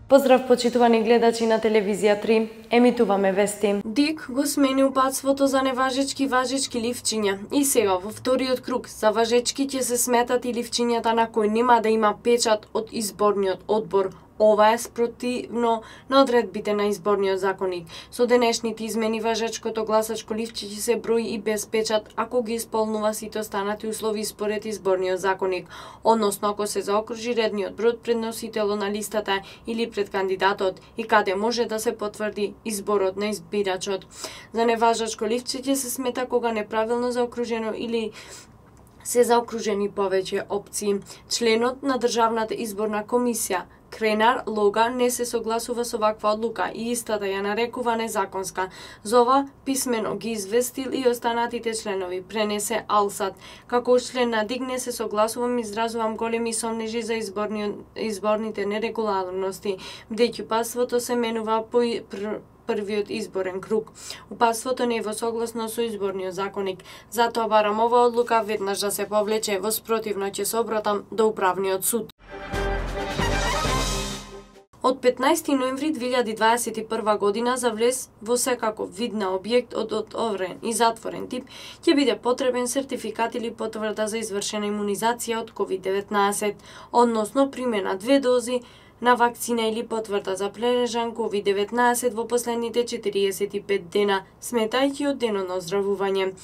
Поздрав почитувани гледачи на телевизија 3, емитуваме вести. ДИК го смени упатството за неважечки важечки ливчиња и сега во вториот круг за важечки ќе се сметат и ливчињата на кои нема да има печат од изборниот одбор. Ова е спротивно на одредбите на изборниот законник. Со денешните измени важечкото гласачко ливче ќе се брои и без печат ако ги исполнува сите останати услови според изборниот законник, односно ако се заокружи редниот број пред носителот на листата или пред кандидатот и каде може да се потврди изборот на избирачот. За неважачко ливче ќе се смета кога неправилно заокружено или се заокружени повеќе опции. Членот на Државната изборна комисија Кренар Лога не се согласува со ваква одлука и истата ја нарекува незаконска. За ова писмено ги известил и останатите членови, пренесе Алсат. Како член на ДИК не се согласувам, изразувам големи сомнежи за изборните нерегуларности, бидејќи упатството се менува по првиот изборен круг. Упатството не е во согласно со изборниот законник. Затоа барам ова одлука веднаш да се повлече, во спротивно ќе се обратам до управниот суд. Од 15 ноември 2021 година за влез во секаков вид на објект од отворен и затворен тип ќе биде потребен сертификат или потврда за извршена имунизација од COVID-19, односно примена 2 дози на вакцина или потврда за прележан COVID-19 во последните 45 дена, сметајќи од денот на оздравување.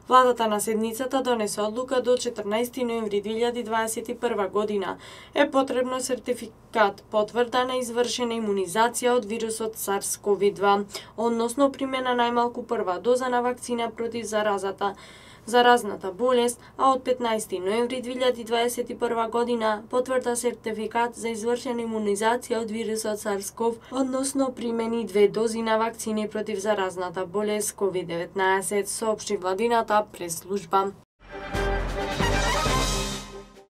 Владата на седницата донесе одлука до 14 ноември 2021 година е потребно сертификат потврда на извршена имунизација од вирусот SARS-CoV-2, односно примена најмалку прва доза на вакцина против заразната болест, а од 15 ноември 2021 година потврда сертификат за извршена имунизација од вирусот SARS-CoV, односно примени 2 дози на вакцини против заразната болест COVID-19, соопшти владината прес-служба.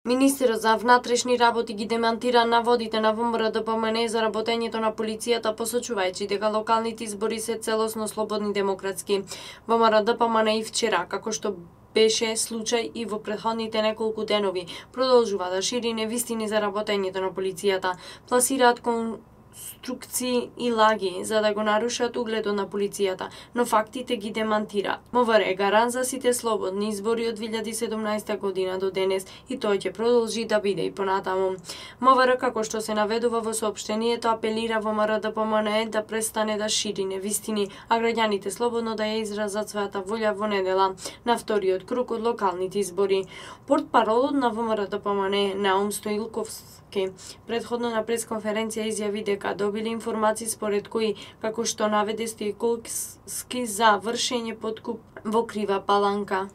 Министерот за внатрешни работи ги демантира наводите на ВМРО-ДПМН за работењето на полицијата, посочувајќи дека локалните избори се целосно слободни демократски. ВМРО-ДПМН и вчера, како што беше случај и во претходните неколку денови, продолжува да шири невистини за работењето на полицијата, пласираат конструкции и лаги за да го нарушат угледот на полицијата, но фактите ги демантира. МВР е гарант за сите слободни избори од 2017 година до денес и тој ќе продолжи да биде и понатаму. МВР, како што се наведува во соопштението, апелира ВМРО-ДПМН да престане да шири невистини, а граѓаните слободно да ја изразат својата волја во недела на вториот круг од локалните избори. Портпаролот на ВМРО-ДПМН Наум Стоилковски претходно на пресконференција изјави дека добили информации според кои, како што наведе Стоилковски, за вршење подкуп во Крива Паланка.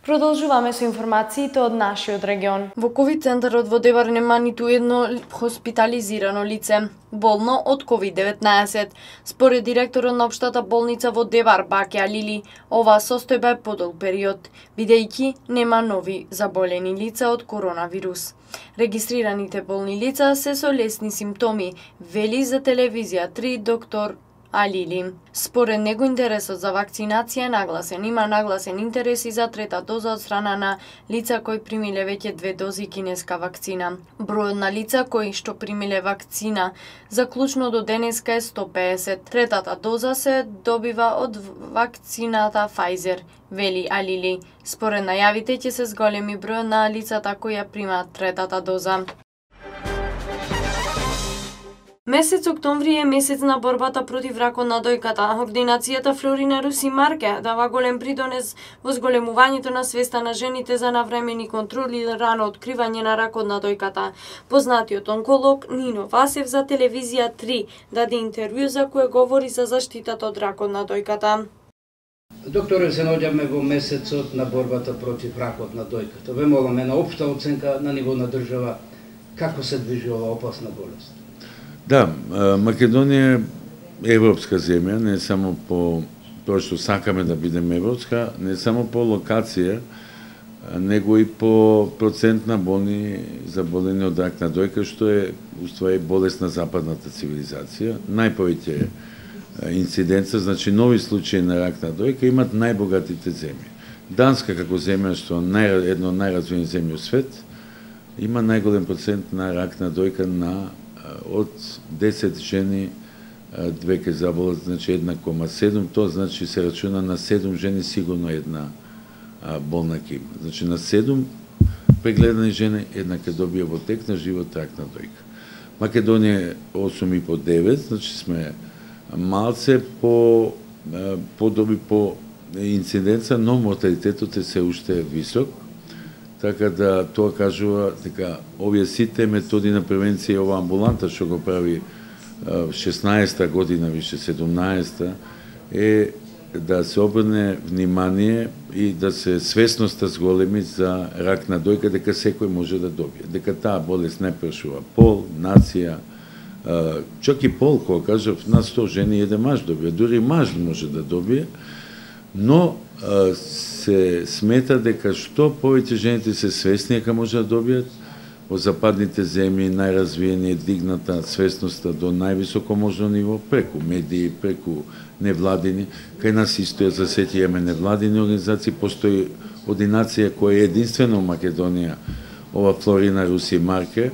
Продолжуваме со информациите од нашиот регион. Во ковид центарот во Девар нема ниту едно хоспитализирано лице болно од COVID-19. Според директорот на општата болница во Девар, Баке Алили, оваа состојба е подолг период, бидејќи нема нови заболени лица од коронавирус. Регистрираните болни лица се со лесни симптоми, вели за телевизија 3 доктор Алили. Според него интересот за вакцинација е нагласен. Има нагласен интерес и за трета доза од страна на лица кои примиле веќе 2 дози кинеска вакцина. Бројот на лица кои што примиле вакцина заклучно до денеска е 150. Третата доза се добива од вакцината Pfizer, вели Алили. Според најавите ќе се зголеми бројот на лицата кои ја примаат третата доза. Месец октомври е месец на борбата против ракот на дојката. Ординацијата Флорина Руси Марке дава голем придонес во зголемувањето на свеста на жените за навремени контроли и рано откривање на ракот на дојката. Познатиот онколог Нино Васев за телевизија 3 даде интервју за кое говори за заштитата од ракот на дојката. Докторе, се наоѓаме во месецот на борбата против ракот на дојката. Ве молам една општа оценка на ниво на држава како се движи ова опасна болест. Да, Македонија е европска земја, не само по тоа што сакаме да бидеме европска, не само по локација, него и по процент на болни заболени од рак на дојка, што е уствари болест на западната цивилизација. Најповеќе инциденца, значи нови случаи на рак на дојка имат најбогатите земји. Данска како земја што едно од најразвиени земји во свет, има најголем процент на рак на дојка од 10 жени 2 ќе заболат, значи 1,7, тоа значи се рачуна на 7 жени сигурно една болна ќе има. Значи на 7 прегледани жени една ќе добие во тек на живот рак на дојка. Македонија е 8,5-9, значи сме малце подоби по инциденца, но морталитетот е се уште висок. Така да тоа кажува дека овие сите методи на превенција, ова амбуланта што го прави 16-та година, више 17-та, е да се обрне внимание и да се свесноста зголеми за рак на дојка, дека секој може да добие. Дека таа болест не прашува пол, нација, чак и пол, кога кажав, на 100 жени еден маж добие, дури маж може да добие, но се смета дека што повеќе жените се свесни дека може да добијат, во западните земји најразвиени е дигната свесноста до највисоко можно ниво, преку медии, преку невладини. Кај нас исто за сеќаваме невладини организации, постои ординација која е единствено во Македонија, ова Флорина Руси Марке,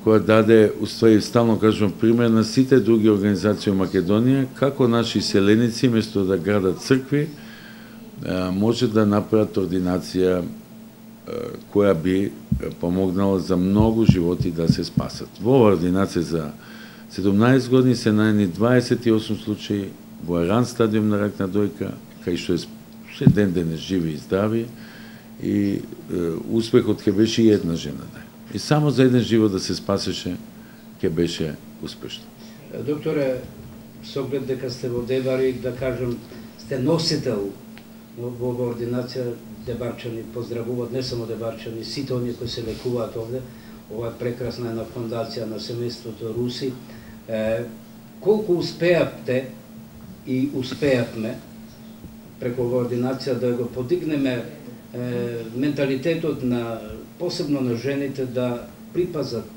која даде, уствари стално кажувам, пример на сите други организации во Македонија, како наши селеници, место да градат цркви, може да направат ординација која би помогнала за многу животи да се спасат. Во оваа ординација за 17 години се најдени 28 случаи во ран стадиум на рак на дојка, кај што е ден живи и здрави, и успехот ќе беше и една жена. И само за еден живот да се спасеше, ќе беше успешно. Докторе, со оглед дека сте во Дебари, да кажем, сте носител во ординација, дебарчани поздравуваат, не само дебарчани, сите оние кои се лекуваат овде, ова е прекрасна една фондација на семејството Руси. Колку успеавте и успеавме преку оваа ординација да го подигнеме менталитетот на посебно на жените да припазат,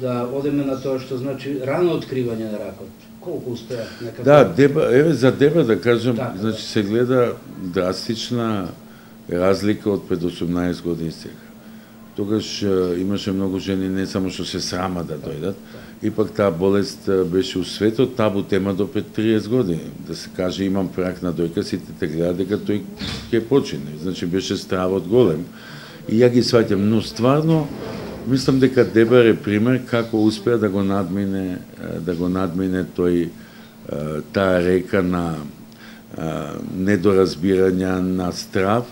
да одеме на тоа што значи рано откривање на ракот. Колку успеа некако? Да, еве за Деба да кажам, значи се гледа драстична разлика од пред 18 години сега. Тогаш имаше многу жени не само што се срама да дојдат, ипак таа болест беше у светот табу тема до пред 30 години. Да се каже имам рак на дојка, сите те гледаат дека тој ќе почине. Значи беше стравот голем. И ја ги сваќам, но стварно мислам дека Дебар е пример како успеа да го надмине тој таа река на недоразбирање, на страв,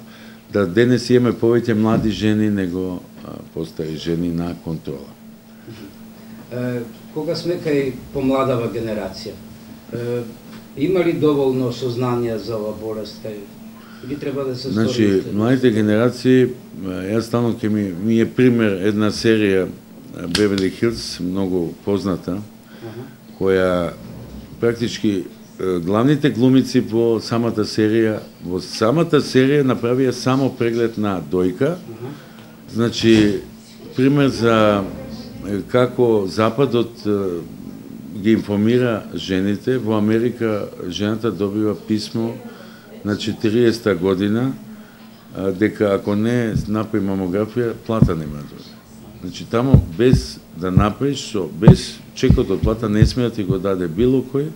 да денес имаме повеќе млади жени него постари жени на контрола. Кога сме кај помладава генерација, има ли доволно сознание за ова болест? Или треба да се стори? Значи, младите генерации, јас стално ќе ми е пример една серија Бевели Хилс, многу позната, која практички главните глумици во самата серија направија само преглед на дојка. Значи, пример за како Западот ги информира жените. Во Америка жената добива писмо на 40-та година дека ако не направи мамографија, плата нема да дојде. Значи, тамо без да направиш, без чекот од плата не сме да ти го даде било кој,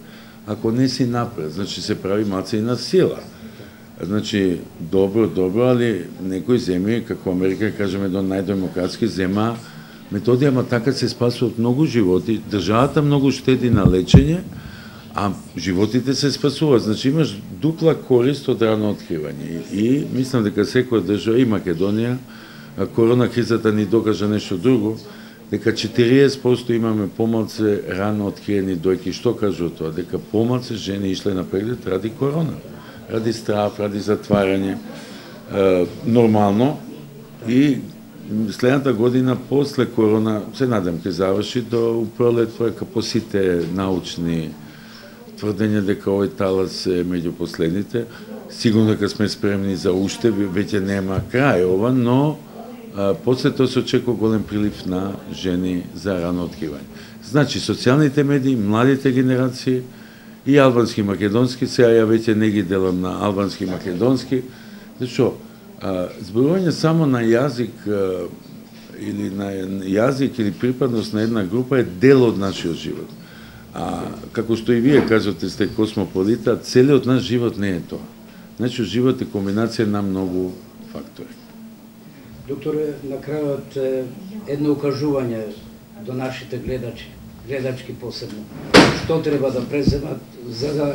ако не си направи. Значи, се прави маца и на сила. Значи, добро, али некои земји, како Америка, кажеме, до најдемократски зема методи, ама така се спасуваат многу животи. Државата многу штеди на лечење, а животите се спасуваат. Значи, имаш дупла корист од рано откривање. И мислам дека секоја држава, и Македонија, корона кризата ни докажа нешто друго, дека 40% имаме помалце рано откриени дојки. Што кажува тоа? Дека помалце жени ишле на преглед ради корона, ради страв, ради затварање. Нормално. И следната година, после корона, се надам ќе заврши до пролет, по сите научни тврдења дека овој талас е меѓу последните. Сигурно дека сме спремни за уште, веќе нема крај ова, но после тоа се очекува голем прилив на жени за рано откривање. Значи, социјалните медии, младите генерации и албански и македонски, сега ја веќе не ги делам на албански и македонски, зашто зборување само на јазик или на јазик или припадност на една група е дел од нашиот живот. А како што и вие кажате, сте космополита, целиот наш живот не е тоа. Нашиот живот е комбинација на многу фактори. Докторе, на крајот едно укажување до нашите гледачки посебно. Што треба да преземат за да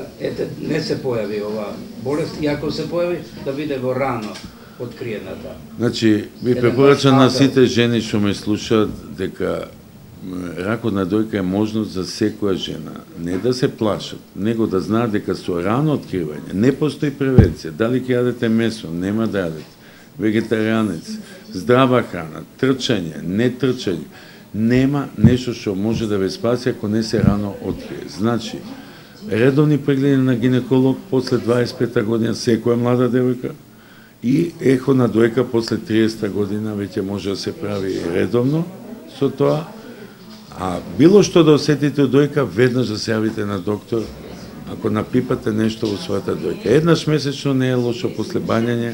не се појави ова болест и ако се појави да биде во рано откриената. Значи, ви препорачам на сите жени што ме слушаат дека ракот на дојка е можност за секоја жена. Не да се плашат, него да знаат дека со рано откривање не постои превенција. Дали ќе јадете месо, нема да јадете, вегетаријанец, здрава храна, трчање, не трчање. Нема нешто што може да ве спаси ако не се рано открие. Значи, редовни прегледи на гинеколог после 25 година секоја млада девојка и ехо на дојка после 30 година веќе може да се прави редовно со тоа. А било што да осетите од дојка, веднаш да се јавите на доктор ако напипате нешто во својата дојка. Еднаш месечно не е лошо после бањање,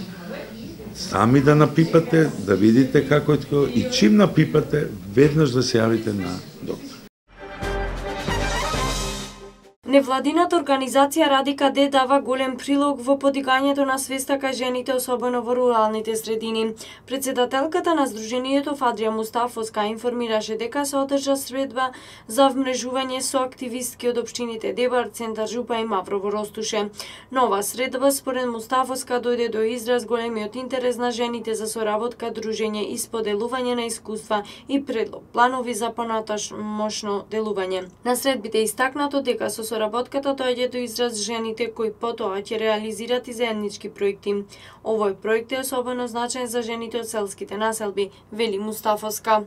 сами да напипате, да видите како е тоа и чим напипате, веднаш да се јавите на доктор. Невладината организација Радика Д дава голем прилог во подигањето на свеста кај жените, особено во руралните средини. Председателката на Сдруженијето Фадрија Мустафовска информираше дека се одржа средба за вмрежување со активистки од општините Дебар, Центар Жупа и Маврово Ростуше. Нова средба според Мустафовска дојде до израз големиот интерес на жените за соработка, дружење и споделување на искуства и предлог планови за понатамошно делување. На средбите истакнато дека со соработката доаѓа до израз жените кои потоа ќе реализират и заеднички проекти. Овој проект е особено значаен за жените од селските населби, вели Мустафовска.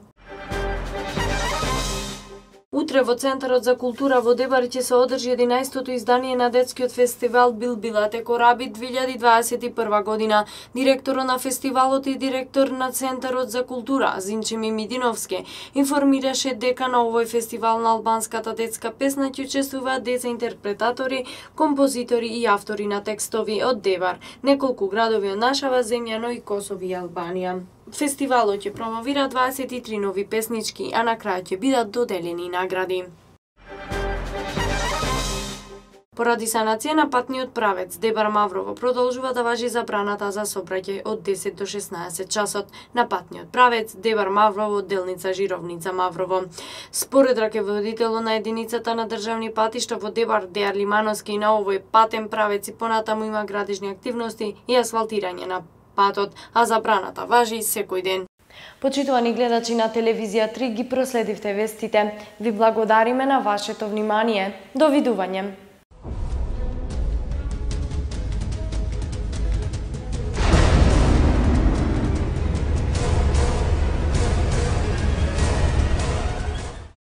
Утре во Центарот за култура во Дебар ќе се одржи 11-то издание на детскиот фестивал Билбилате Кораби 2021 година. Директорот на фестивалот и директор на Центарот за култура Зинче Мимидиновски информираше дека на овој фестивал на албанската детска песна ќе учествуваат деца интерпретатори, композитори и автори на текстови од Дебар, неколку градови од нашава земја, но и Косово и Албанија. Фестивалот ќе промовира 23 нови песнички, а на крај ќе бидат доделени награди. Поради санација на патниот правец Дебар Маврово продолжува да важи забраната за сообраќај од 10 до 16 часот на патниот правец Дебар Маврово, делница Жировница Маврово. Според раководителот на единицата на државни патишта во Дебар Дејар Лимановски, на овој патен правец и понатаму има градежни активности и асфалтирање на патот, а забраната важи секој ден. Почитувани гледачи на телевизија 3, ги проследивте вестите. Ви благодариме на вашето внимание. До видување.